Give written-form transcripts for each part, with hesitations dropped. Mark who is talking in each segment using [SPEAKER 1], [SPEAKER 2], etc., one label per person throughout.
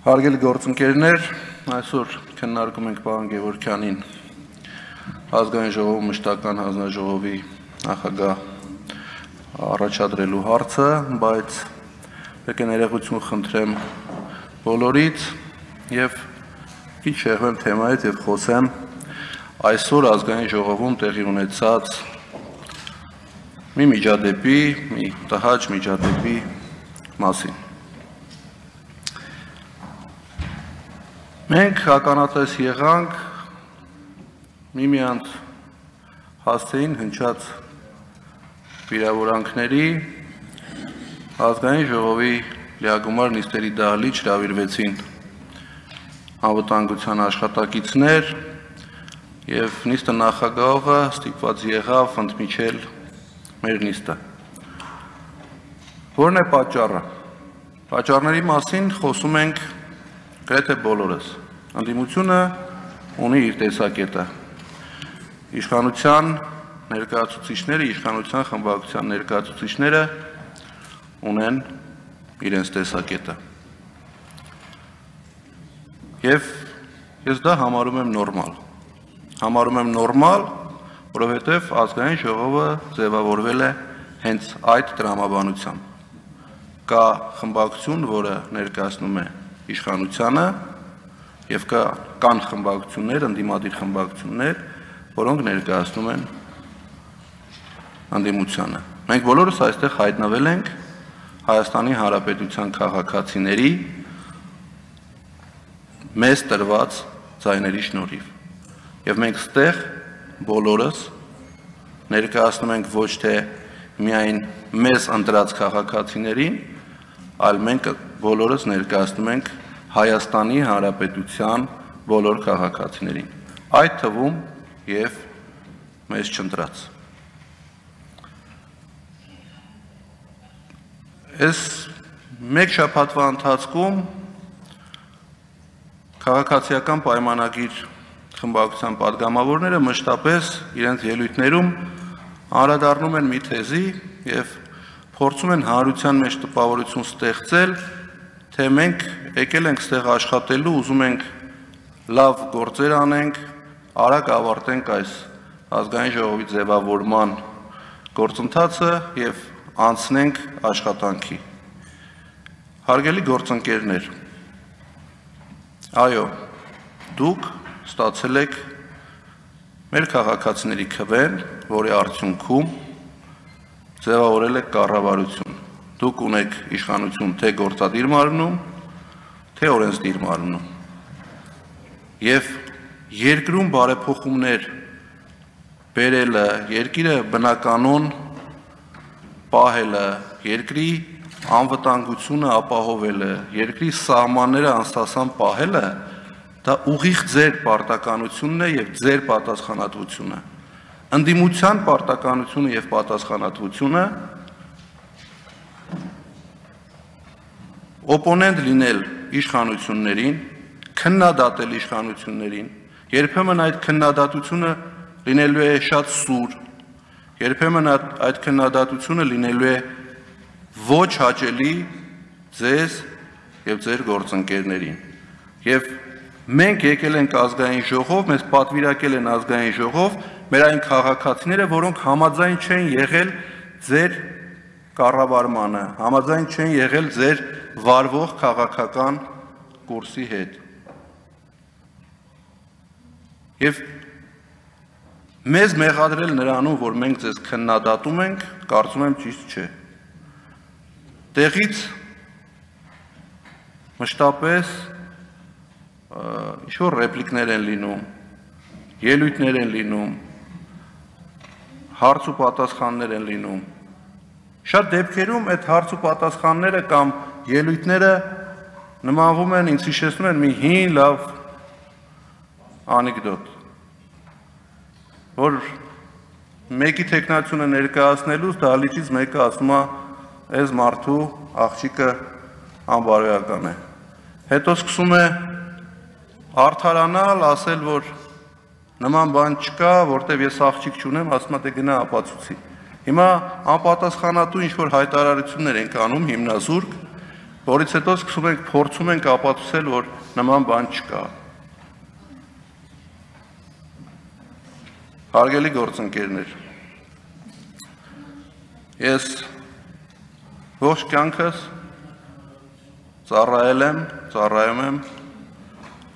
[SPEAKER 1] Հարգելի գործընկերներ, այսօր քննարկում ենք պարոն Գևորգյանին ազգային ժողովի մշտական հանձնաժողովի նախագահ առաջադրելու հարցը, բայց եկեք ներողություն խնդրեմ բոլորից եւ քիչ շեղվեմ թեմայից եւ խոսեմ այսօր ազգային ժողովում տեղի ունեցած մի միջադեպի, մի տհաճ միջադեպի մասին։ Մենք ականատես եղանք միմյանց հասցեին հնչած վիրավորանքների ազգային ժողովի լիագումար նիստերի դահլիճ հրավիրվեցին անվտանգության աշխատակիցներ եւ նիստը նախագահողը ստիպված եղավ ընդմիջել մեր նիստը։ Որն է պատճառը։ Պատճառների մասին խոսում ենք գրեթե բոլորս։ Ընդդիմությունը ունի իր տեսակետը։ Իշխանության ներկայացուցիչները, իշխանության խմբակցության ներկայացուցիչները ունեն իրենց տեսակետը։ Եվ ես դա համարում եմ նորմալ։ Համարում եմ նորմալ, որովհետև ազգային ժողովը ձևավորվել է հենց այդ տրամաբանությամբ։ Կա խմբակցություն, որը ներկայացնում է իշխանությանը եւ կան խմբակցություններ, ընդդիմադիր խմբակցություններ, որոնք ներկայացնում են ընդդիմությանը։ Մենք բոլորս այստեղ հայտնվել ենք Հայաստանի Հանրապետության քաղաքացիների մեզ տրված ձայների շնորհիվ։ Եվ մենք ստեղ բոլորս ներկայացնում ենք ոչ թե միայն մեզ ընտրած քաղաքացիներին, այլ մենք բոլորս ներկայացնում ենք Հայաստանի Հանրապետության բոլոր քաղաքացիներին, այդ թվում եւ մեզ չընտրած։ Այս մեկ շաբաթվա ընթացքում քաղաքացիական պայմանագիր խմբակցության падգամավորները մշտապես իրենց ելույթներում անդրադառնում են մի թեզի եւ փորձում են հանրության մեջ տպավորություն ստեղծել, թե մենք եկել ենք ստեղ աշխատելու, ուզում ենք լավ գործեր անենք, արագ ավարտենք այս ազգային ժողովի ձևավորման գործընթացը եւ անցնենք աշխատանքի։ Հարգելի գործընկերներ, այո, դուք ստացել եք մեր քաղաքացիների քվեն, որի արդյունքում ձևավորել եք կառավարություն։ Դուք ունեք իշխանություն թե գործադիր մարմնում, թե օրենսդիր մարմնում։ Եվ երկրում բարեփոխումներ բերելը, երկիրը բնականon պահելը, երկրի անվտանգությունը ապահովելը, երկրի սահմանները անստասան պահելը, դա ուղիղ ձեր պարտականությունն է եւ ձեր պատասխանատվությունը։ Ընդդիմության պարտականությունը եւ պատասխանատվությունը օպոնենտ լինել իշխանություններին, քննադատել իշխանություններին, երբեմն այդ քննադատությունը լինելու է շատ սուր, երբեմն այդ քննադատությունը լինելու է ոչ հաճելի ձեզ եւ ձեր գործընկերներին։ Եվ մենք եկել ենք ազգային ժողով, մեզ պատվիրակել են ազգային ժողով, մեր այն քաղաքացիները, որոնք համաձայն չեն եղել ձեր կառավարմանը, համաձայն չեն եղել ձեր վարվող քաղաքական կուրսի հետ։ Եվ մեզ մեղադրել նրանում, որ մենք ձեզ քննադատում ենք, կարծում եմ ճիշտ չէ։ Տեղից մշտապես ինչ-որ ռեպլիկներ են լինում, ելույթներ են լինում, հարց ու պատասխաններ են լինում։ Շատ դեպքերում այդ հարց ու պատասխանները կամ ելույթները նմանվում են, ինձ հիշեցնում են մի հին լավ անեկդոտ, որ մեկի տեխնացիոնը ներկայացնելուց դահլիճից մեկը ասում է, այս մարդու աղջիկը անբարոյական է։ Հետո սկսում է արդարանալ, ասել, որ նման բան չկա, որտեվ ես աղջիկ չունեմ, ասում է դե գնա ապացուցի։ Հիմա անպատասխանատու ինչ-որ հայտարարություններ ենք անում հիմնազուրկ, որից հետո փորձում ենք ապացուցել, որ նման բան չկա։ Հարգելի գործընկերներ, ես ողջ կյանքս ծառայում եմ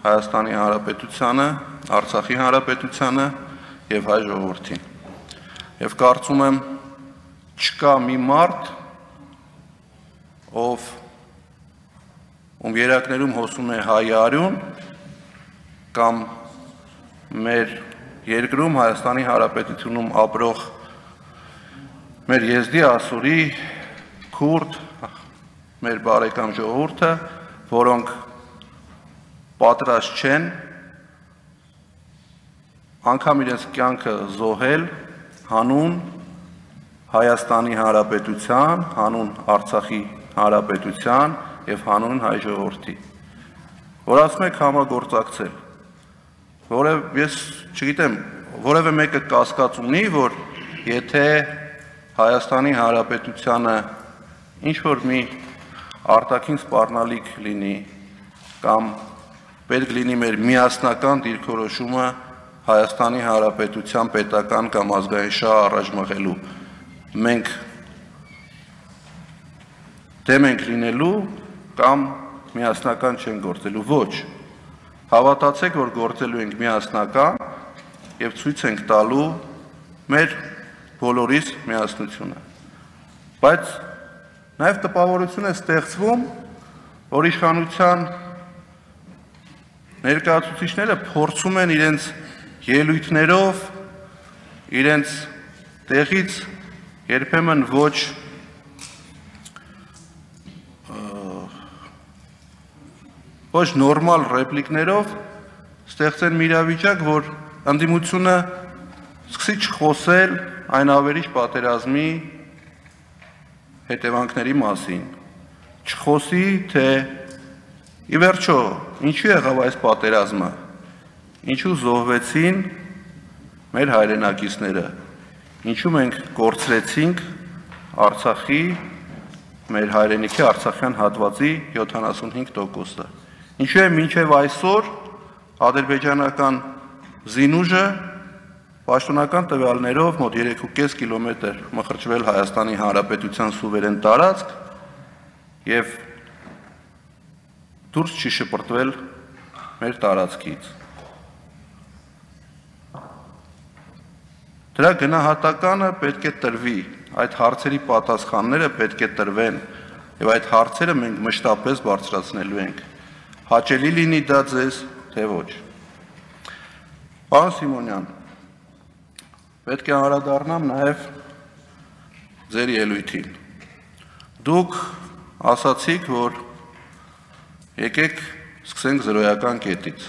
[SPEAKER 1] Հայաստանի Հանրապետությանը, Արցախի Հանրապետությանը եւ հայ ժողովրդին։ Եվ կարծում եմ չկա մի մարդ, ով ում երակներում հոսում է հայ արյուն կամ մեր երկրում Հայաստանի Հանրապետությունում ապրող մեր եզդի ասորի քուրդ մեր բարեկամ ժողովուրդը, որոնք պատրաստ չեն անգամ իրենց կյանքը զոհել հանուն Հայաստանի Հանրապետության, հանուն Արցախի Հանրապետության եւ հանուն հայ ժողովրդի, որ ասում եք համագործակցել, ես չգիտեմ, որևէ մեկը կասկած ունի, որ եթե Հայաստանի Հանրապետությանը ինչ-որ մի արտաքին սպառնալիք լինի կամ պետք լինի մեր միասնական դիրքորոշումը Հայաստանի Հանրապետության պետական կամ ազգային շահ առաջ մղելու, մենք դեմ ենք լինելու կամ միասնական չեն գործելու, ոչ, հավատացեք, որ գործելու ենք միասնական և ցույց ենք տալու մեր բոլորիս միասնությունը, բայց նաև տպավորություն է ստեղծվում, որ իշխանության ներկայացուցիչները փորձում են իրենց ելույթներով, իրենց տեղից երբեմն ոչ նորմալ ռեպլիկներով ստեղծեն մի իրավիճակ, որ ընդդիմությունը սկսի չխոսել այն ավերիչ պատերազմի հետևանքների մասին, չխոսի, թե ի վերջո, ինչու եղավ այս պատերազմը, ինչու զոհվեցին մեր հայրենակիցները, ինչու մենք կորցրեցինք Արցախի, մեր հայրենիքի արցախյան հատվածի 75%-ը, ինչու է մինչև այսօր ադրբեջանական զինուժը պաշտոնական տվյալներով մոտ 3,5 կիլոմետր մխրճվել Հայաստանի Հանրապետության սուվերեն տարածք և դուրս չի շպրտվել մեր տարածքից։ Դրա գնահատականը պետք է տրվի, այդ հարցերի պատասխանները պետք է տրվեն և այդ հարցերը մենք մշտապես բարձրացնելու ենք, հաճելի լինի դա ձեզ, թե ոչ։ Պարոն Սիմոնյան, պետք է անդրադառնամ նաև ձեր ելույթին։ Դուք ասացիք, որ եկեք սկսենք զրոյական կետից։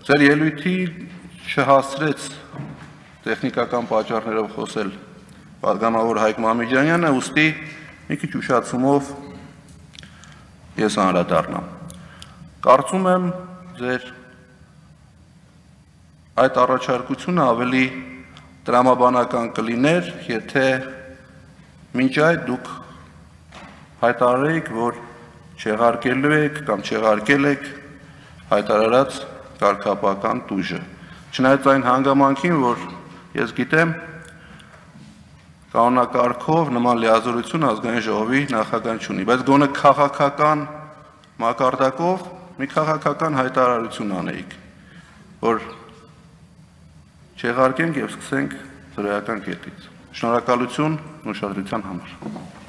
[SPEAKER 1] Ձեր ելույթի չհասցրեց տեխնիկական պատճառներով խոսել պատգամավոր Հայկ Մամիջանյանը, ուստի մի քիչ ուշացումով ես անդրադառնամ։ Կարծում եմ ձեր այդ առաջարկությունը ավելի տրամաբանական կլիներ, եթե մինչ այդ դուք հայտարարեիք, որ չեղարկելու եք կամ չեղարկել եք հայտարարած կարգապահական տուժը։ Չնայած այն հանգամանքին, որ ես գիտեմ, կանոնակարգով նման լիազորություն ազգային ժողովի նախագահան չունի, բայց գոնե քաղաքական մակարդակով մի քաղաքական հայտարարություն անեիք, որ չեղարկենք և սկսենք զրոյական կետից։ Շնորհակալություն ուշադրության համար։